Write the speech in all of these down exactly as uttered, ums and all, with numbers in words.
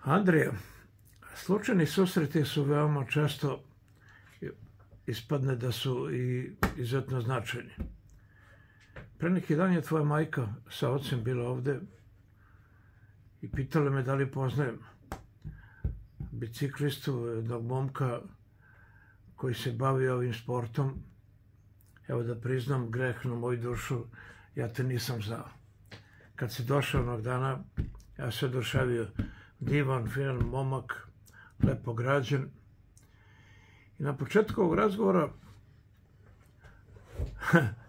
Andrija, slučajni susreti su veoma često, ispadne da su i izuzetno značajni. Pre neki dan je tvoja majka sa ocem bila ovde i pitala me da li poznajem biciklistu, jednog momka koji se bavi ovim sportom. Evo da priznam greh na moju dušu, ja te nisam znao. Kad si došao onog dana, ja se oduševio. Divan, finan momak, lepo građen. I na početku ovog razgovora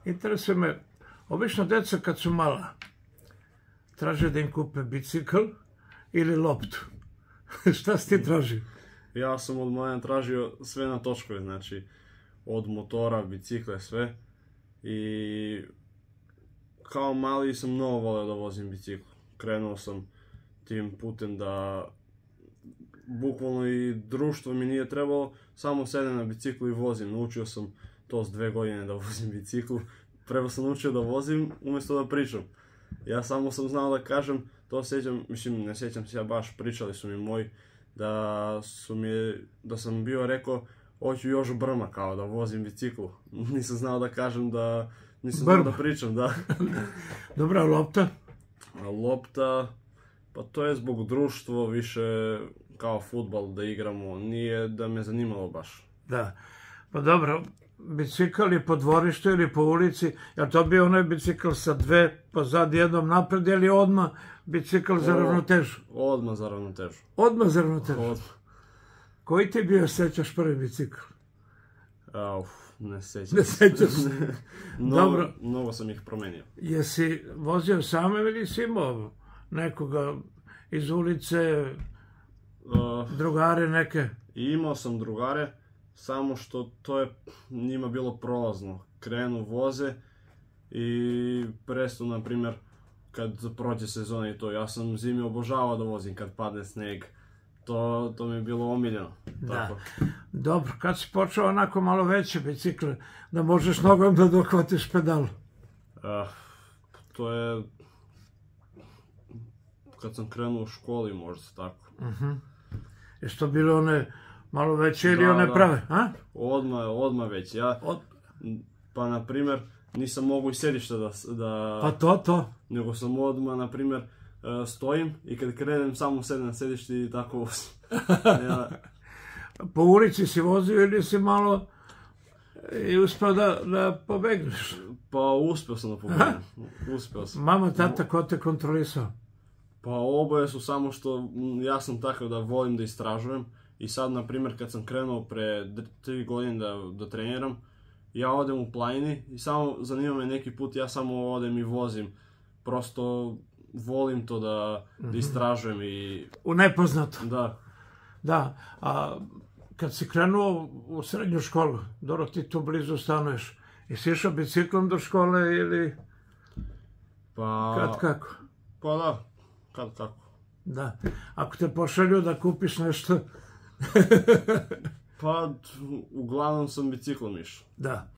interesuje me, obično deca kad su mala traže da im kupe bicikl ili loptu. Šta si ti tražio? Ja sam od mlada tražio sve na točkove, znači od motora, bicikle, sve. I kao mali sam mnogo voleo da vozim bicikl. Krenuo sam tim putem da bukvalno i društvo mi nije trebalo, samo sedem na biciklu i vozim. Naučio sam to s dve godine da vozim bicikl. Prvo sam naučio da vozim umjesto da pričam. Ja samo sam znao da kažem, to sjećam, mislim ne sjećam se ja baš, pričali su mi moji da su mi, da sam bio rekao hoću još brma kao da vozim bicikl. Nisam znao da kažem da, nisam znao da pričam, da. Dobra, lopta? A lopta, pa to je zbog društva više kao fudbal da igramo, nije da me zanimalo baš. Da, pa dobro, bicikl je po dvorištu ili po ulici, je to bio onaj bicikl sa dve, pa zad jednom napred, ili odmah bicikl za ravnotežu? Odmah za ravnotežu. Odmah za ravnotežu? Odmah. Koji ti bio, sećaš, prvi bicikl? Uf, ne sećam. Ne sećaš se? Dobro. Mnogo sam ih promenio. Jesi vozio sam ili si imao nekoga iz ulice, drugare neke? Imao sam drugare, samo što to je njima bilo prolazno. Krenu, voze i prestanu, na primjer, kad prođe sezona i to. Ja sam zimi obožavao da vozim kad padne sneg. To, to mi je bilo omiljeno. Da. Dobro, kad si počeo onako malo veće bicikle, da možeš nogom da dohvatiš pedal? Uh, to je kad sam krenuo u školi, možda tako. Uh-huh. Je što bilo one malo veće ili da, one prave? A? Odmah, odmah već. Ja, Od... pa na primjer, nisam mogu i sedišta da, da... Pa to, to. Nego sam odmah, na primjer, stojim i kad krenem samo sedem na sedišti i tako vozim. Ja. Po ulici si vozio ili si malo i uspio da, da pobegneš? Pa uspio sam da pobegnem. Uspio sam. Mama, tata, ko te kontrolisao? Pa oboje su, samo što ja sam takav da volim da istražujem. I sad, na primjer, kad sam krenuo pre tri godine da, da treniram, ja odem u planini i samo zanima me neki put, ja samo odem i vozim. Prosto volim to da, da istražujem i... U nepoznato. Da. Da, a kad si krenuo u srednju školu, dobro ti tu blizu stanuješ, jesi išao biciklom do škole ili... Pa... Kad kako? Pa da, kad kako. Da, ako te pošalju da kupiš nešto... Pa, uglavnom sam biciklom išao. Da.